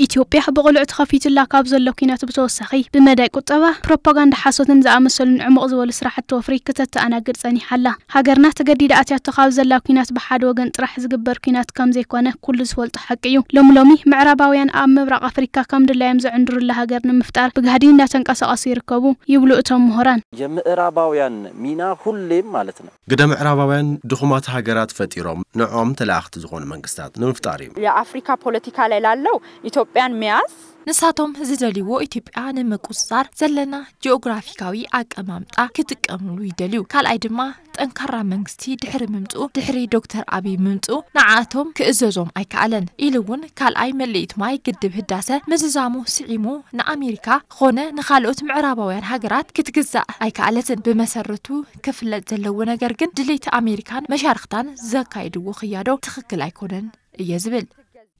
ኢትዮጵያ ብቕሉዕ ተኸፊቱላ ካብ ዘሎ ኲናት ብተወሳኺ ብመዳይ ቁጠባ፣ ፕሮፓጋንዳ ሓሶትን ዝኣመሰሉን ዕሙቕ ዝበሉ ስራሕቲ ወፍሪ ክተተኣናግድ ጸኒሓ ኣላ። ሃገርና ተገዲዳ ኣትያቶ ካብ ዘላ ኲናት ብሓደ ወገን ጥራሕ ዝግበር ኲናት ከም ዘይኮነ ኩሉ ዝፈልጦ ሓቂ እዩ። ሎሚ ሎሚ ምዕራባውያን ኣብ ምብራቕ ኣፍሪካ ከም ድላዮም ዝዕንድሩላ ሃገር ንምፍጣር ብጋህዲ እንዳተንቀሳቐሱ ይርከቡ ይብሉ እቶም ምሁራን። የምዕራባውያን ሚና ሁሌም ማለት ነው። ግደ ምዕራባውያን ድኹማት ሃገራት ፈጢሮም ንዖም ተላእኽቲ ዝኾኑ መንግስታት ንምፍጣር እዩ። የአፍሪካ ፖለቲካ ላይ ላለው ኢትዮጵያን መያዝ ንሳቶም ዝደልይዎ ኢትዮጵያ ንምቁፅፃር ዘለና ጂኦግራፊካዊ ኣቀማምጣ ክጥቀምሉ ይደልዩ። ካልኣይ ድማ ጠንካራ መንግስቲ ድሕሪ ምምፅኡ ድሕሪ ዶክተር ኣብይ ምምፅኡ ንዓኣቶም ክእዘዞም ኣይከኣለን ኢሉ እውን ካልኣይ መለኢት ማይ ግድብ ህዳሰ ምዝዛሙ ስዒሙ ንኣሜሪካ ኾነ ንኻልኦት ምዕራባውያን ሃገራት ክትግዛእ ኣይከኣለትን። ብመሰረቱ ክፍለጥ ዘለዎ ነገር ግን ድሌት ኣሜሪካን መሻርክታን ዘካይድዎ ክያዶ ትኽክል ኣይኮነን እየ ዝብል።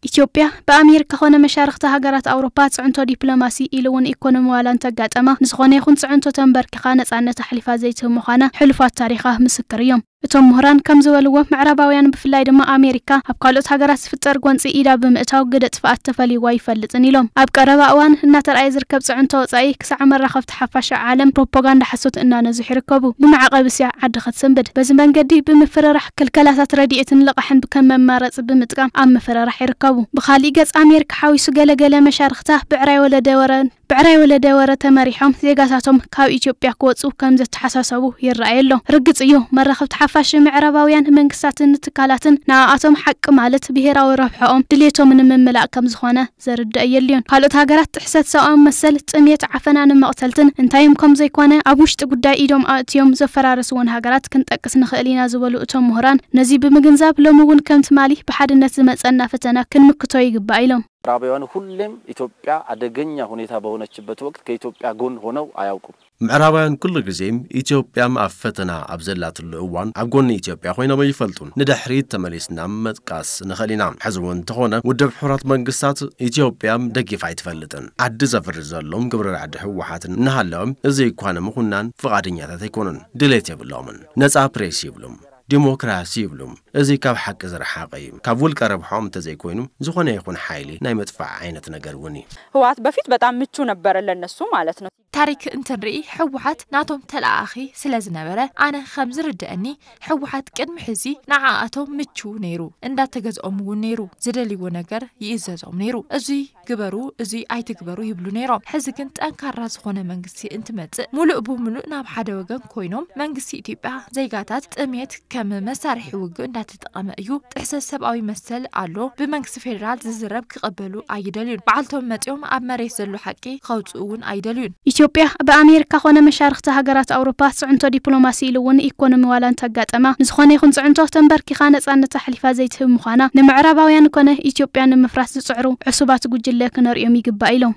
ኢትዮጵያ ብኣሜሪካ ኾነ መሻርክቲ ሃገራት ኣውሮፓ ጽዕንቶ ዲፕሎማሲ ኢሉ እውን ኢኮኖሚ ዋላ እንተጋጠማ ንዝኾነ ይኹን ጽዕንቶ ተንበርኪኻ ነጻነት ኣሕሊፋ ዘይትህብ ምዃና ሕሉፋት ታሪኻ ምስክር እዮም። እቶም ምሁራን ከም ዝበልዎ ምዕራባውያን ብፍላይ ድማ ኣሜሪካ ኣብ ካልኦት ሃገራት ዝፍጠር ጎንፂ ኢዳ ብምእታው ግደ ጥፍኣት ተፈልይዋ ይፈልጥን ኢሎም። ኣብ ቀረባ እዋን እናተርኣየ ዝርከብ ጽዕንቶ ወጻኢ ክሳዕ መራኸብቲ ሓፋሽ ዓለም ፕሮፓጋንዳ ሓሶት እናነዝሑ ይርከቡ። ብመዕቐቢ እስያ ዓዲ ክትስንብድ በዚ መንገዲ ብምፍርራሕ ክልከላታት ረድኤትን ልቓሕን ከም መማረፂ ብምጥቃም ኣብ ምፍርራሕ ይርከቡ። ብኻሊእ ገፅ ኣሜሪካ ሓዊሱ ገለገለ መሻርኽታ ብዕራይ ወለደ ወረን ብዕራይ ወለደ ወረ ተመሪሖም ዜጋታቶም ካብ ኢትዮጵያ ክወፁ ከም ዘተሓሳሰቡ ይረኣይ ኣሎ። ርግፅ እዩ መራኸብቲ ሓፋሽ ምዕራባውያን መንግስታትን ትካላትን ንኣኣቶም ሓቂ ማለት ብሄራዊ ረብሐኦም ድሌቶም ንምምላእ ከም ዝኾነ ዘርድእ የልዮን። ካልኦት ሃገራት ጥሕሰት ሰብኣዊ መሰል፣ ጥሜት፣ ዓፈናን መቕተልትን እንታዮም ከም ዘይኮነ ኣብ ውሽጢ ጉዳይ ኢዶም ኣእትዮም ዘፈራረስወን ሃገራት ክንጠቅስ ንኽእል ኢና ዝበሉ እቶም ምሁራን ነዚ ብምግንዛብ ሎሚ እውን ከም ትማሊ ብሓድነት ዝመፀና ፈተና ክንምክቶ ይግባእ ኢሎም። ምዕራባውያን ሁሌም ኢትዮጵያ አደገኛ ሁኔታ በሆነችበት ወቅት ከኢትዮጵያ ጎን ሆነው አያውቁም። ምዕራባውያን ኩሉ ግዜ ኢትዮጵያም ኣብ ፈተና ኣብ ዘላትሉ እዋን ኣብ ጎኒ ኢትዮጵያ ኮይኖም ኣይፈልጡን። ንድሕሪት ተመሊስና ምጥቃስ ንኽእል ኢና። ሕዚ እውን እንተኾነ ውድብ ሕቡራት መንግስታት ኢትዮጵያ ደጊፋ ኣይትፈልጥን። ዓዲ ዘፍርስ ዘሎም ግብረ ራዕዲ ህወሓት እናሃለወ እዚ እኳ ንምኹናን ፍቓደኛታት ኣይኮኑን። ድሌት የብሎምን። ነፃ ፕሬስ ይብሉም። ዲሞክራሲ ይብሉም። እዚ ካብ ሓቂ ዝረሓቐ እዩ። ካብ ውልቀ ረብሖም እንተዘይኮይኑ ዝኾነ ይኹን ሓይሊ ናይ ምጥፋእ ዓይነት ነገር እውን እዩ። ህወሓት በፊት በጣም ምቹ ነበረ ለነሱ ማለት ነው። ታሪክ እንትንርኢ ህወሓት ናቶም ተለኣኣኺ ስለ ዝነበረ ኣነ ከም ዝርድአኒ ህወሓት ቅድሚ ሕዚ ንዓኣቶም ምቹ ነይሩ። እንዳተገዝኦም እውን ነይሩ። ዝደልይዎ ነገር ይእዘዞም ነይሩ። እዚ ግበሩ እዚ ኣይትግበሩ ይብሉ ነይሮም። ሕዚ ግን ጠንካራ ዝኾነ መንግስቲ እንትመፅእ ሙሉእ ብሙሉእ ናብ ሓደ ወገን ኮይኖም መንግስቲ ኢትዮጵያ ዜጋታት ጥሜት ከም መሳርሒ ውግእ እንዳተጠቐመ እዩ። ጥሕሰት ሰብኣዊ መሰል ኣሎ። ብመንግስቲ ፌዴራል ዝዝረብ ክቐበሉ ኣይደልዩን። በዓልቶም መፂኦም ኣብ መሬት ዘሎ ሓቂ ከውፅኡ እውን ኣይደልዩን። ኢትዮጵያ ብኣሜሪካ ኾነ መሻርኽቲ ሃገራት ኣውሮፓ ፅዕንቶ ዲፕሎማሲ ኢሉ እውን ኢኮኖሚ ዋላ እንተጋጠማ ንዝኾነ ይኹን ፅዕንቶ ተንበርኪኻ ነፃነት ኣሕሊፋ ዘይትህብ ምዃና ንምዕራባውያን ኮነ ኢትዮጵያ ንምፍራስ ዝፅዕሩ ዕሱባት ጉጅለ ክነርእዮም ይግባእ ኢሎም።